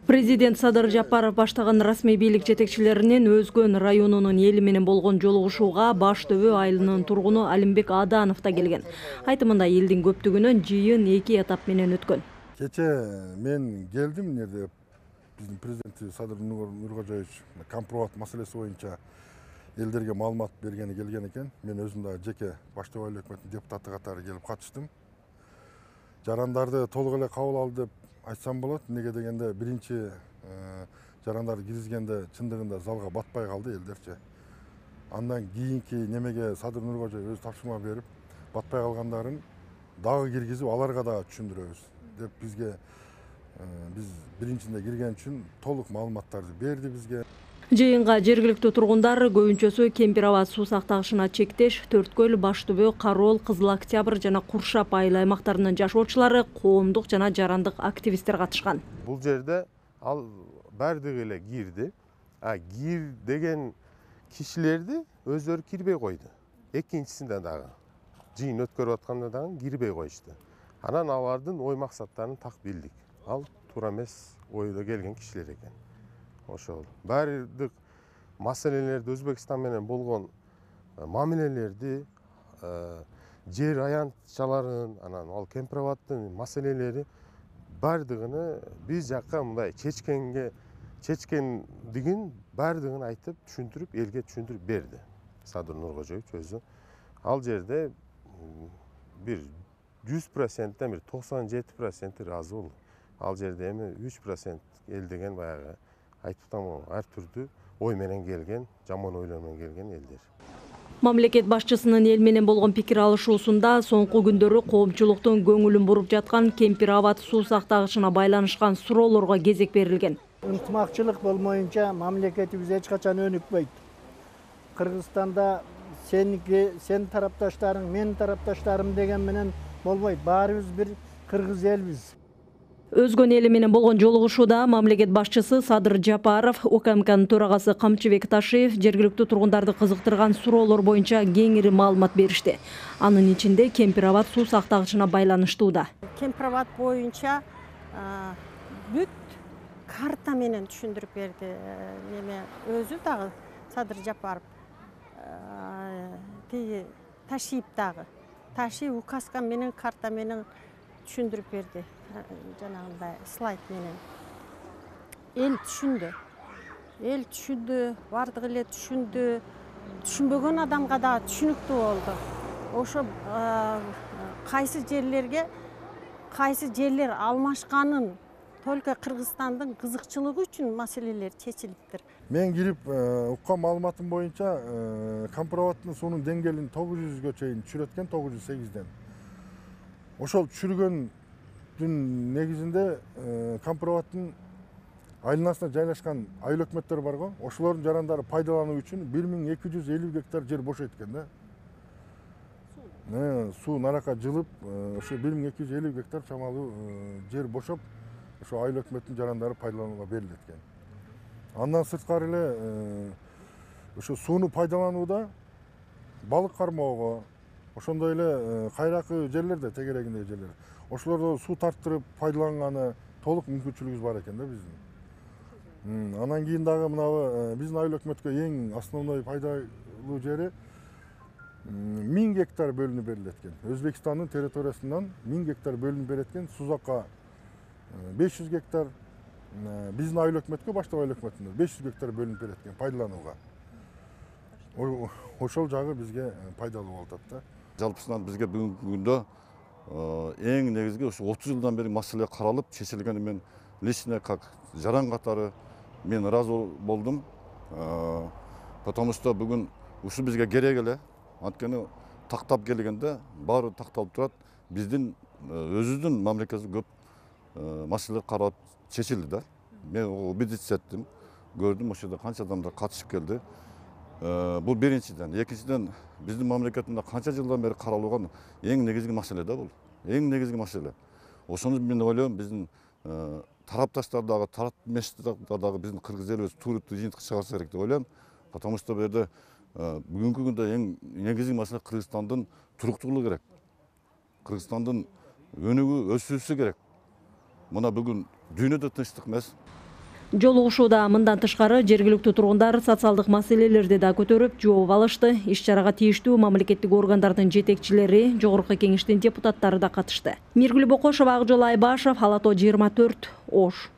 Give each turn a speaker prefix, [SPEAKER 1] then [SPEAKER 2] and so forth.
[SPEAKER 1] Президент Садыр Жапаров баштаган расмий бийлик жетекчилеринин Өзгөн районунун эли менен болгон жолугушууга Баш Төбө айылынын тургуну Алимбек Аданов да келген. Айтымында элдин көптүгүнөн жыйын 2 этап менен өткөн.
[SPEAKER 2] Кече мен келдим, жерде биздин президенти Садыр Нуркожоевич компромат маселеси боюнча элдерге маалымат бергени келген экен. Мен өзүм да жеке Баш Төбө айыл өкмөтүнүн депутаты катары келип катыштым. Жарандарды толук эле кабыл алды деп айтсам болот. Неге дегенде биринчи жарандарды киргизгенде чындыгында залга батпай калды элдерчи. Андан кийинки немеге Садыр Нуркожоев өзү тапшырма берип, батпай калгандарын дагы киргизип, аларга дагы түшүндүрөбүз деп бизге биз биринчинде кирген үчүн толук маалыматтарды берди бизге.
[SPEAKER 1] Жыйынга жергиликтүү тургундар көбүнчөсү Кемпир Абад суу сактагычына чектеш, Төрткөл, Баш Төбө, Кароол, Кызыл Октябрь жана Куршап айыл аймактарынын жашоочулары, коомдук жана жарандык активисттер катышкан.
[SPEAKER 3] Бул жерде ал бардыгы эле кирди. Кир деген кишилерди өздөрү кирбей койду. Экинчисинде дагы жыйын өткөрүп атканда дагы кирбей коюшту. Анан алардын ой максаттарын так билдик. Ал туура эмес ойдо келген кишилер экен. Ошол бардык маселелерди Өзбекстан менен болгон мамилелерди, жер аянтчаларын, анан ал Кемпир Абадтын маселелери бардыгын биз жакка мындай чечкендигин бардыгын айтып түшүндүрүп, элге түшүндүрүп берди Садыр Нуркожоевич өзү. Ал жерде бир 100%ден бир 97% ыраазы болду. Ал жерде эми 3% эл деген баягы айтып тамам ар түрдүү ой менен келген, жаман ойлор менен келген элдер.
[SPEAKER 1] Мамлекет башчысынын эл менен болгон пикир алышуусунда соңку күндөрү коомчулуктун көңүлүн буруп жаткан Кемпир Абад суу сактагычына байланышкан суроолорго кезек берилген.
[SPEAKER 4] Ынтымакчылык болмоюнча мамлекетибиз эч качан өнүкпөйт. Кыргызстанда сен тарапташтарың, мен тарапташтарым деген менен болбойт. Баарыбыз бир кыргыз элбиз.
[SPEAKER 1] Өзгөн эли менен болгон жолугушууда мамлекет башчысы Садыр Жапаров, УКМКнын төрагасы Камчыбек Ташиев жергиликтүү тургундарды кызыктырган суроолор боюнча кеңири маалымат беришти. Анын ичинде Кемпир Абад суу сактагычына байланыштуу да.
[SPEAKER 5] Кемпир Абад боюнча бүт карта менен түшүндүрүп берди. Өзү дагы Садыр Жапаров, Ташиев дагы. Ташиев указка менен карта менен түшүндүрүп берди. Жанагындай слайд менен. Эл түшүндү, бардыгы эле түшүндү. Түшүнбөгөн адамга да түшүнүктүү болду. Ошо кайсы жерлер алмашканын только Кыргызстандын кызыкчылыгы үчүн маселелер чечилиптир.
[SPEAKER 2] Мен кирип уккан маалыматым боюнча Кемпир Абадтын суунун деңгээлин 900гө чейин түшүрөткөн, 908ден. Ошол түшүргөндүн негизинде Кемпир Абадтын айланасына жайлашкан айыл өкмөттөр бар го. Ошолордун жарандары пайдалануу үчүн 1250 гектар жер бош экен да. Суу наракка жылып, ошо 1250 гектар чамалуу жер бошоп, ошо айыл өкмөттүн жарандары пайдаланууга берилет экен. Андан сырткары эле ошо сууну пайдаланууда балык кармоого, ошондой эле кайракы жерлерде, тегерегиндеги жерлер. Ошолордо суу тарттырып пайдаланганы толук мүмкүнчүлүгүбүз бар экен да биздин. Анан кийин дагы мынабы биздин айыл өкмөткө эң основной пайдалуу жери 1000 гектар бөлүнүп берилет экен. Өзбекстандын территориясынан 1000 гектар бөлүнүп берилет экен. Сузакка 500 гектар, биздин айыл өкмөткө, баштап айыл өкмөтүнө 500 гектар бөлүнүп берилет экен пайдаланууга. Ошол жагы бизге пайдалуу болуп атат да.
[SPEAKER 6] Жалпысынан бизге бүгүнкү күндө эң негизги ушу 30 жылдан бери маселе каралып, чечилгени мен лично как жаран катары мен ыраазы болдум. Потому что бүгүн ушу бизге керек эле. Анткени тактап келгенде баары такталып турат. Биздин өзүбүздүн мамлекетибиз көп маселе каралып чечилди да. Мен убедиться эттим, көрдүм, ошол жерде канча адамдар катышып келди. Бул биринчиден. Экинчиден, биздин мамлекетимизде канча жылдан бери каралган эң негизги маселе да бул. Эң негизги маселе. Ошону мен ойлойм, биздин тарапташтар дагы, тарапташтар дагы биздин кыргыз элибиз туруктуу жыйынтыкка чыгарса керек деп ойлойм. Потому что бу жерде бүгүнкү күндө эң негизги маселе Кыргызстандын туруктуулугу керек. Кыргызстандын өнүгүү, өсүүсү керек. Мына бүгүн дүйнөдө тынчтык эмес.
[SPEAKER 1] Жолугушууда мындан тышкары жергиликтүү тургундар социалдык маселелерди да көтөрүп жооп алышты. Иш-чарага тийиштүү мамлекеттик органдардын жетекчилери, жогорку кеңештин депутаттары да катышты. Миргүл Бокошова, Акжол Айбашев, Ала Тоо 24, Ош.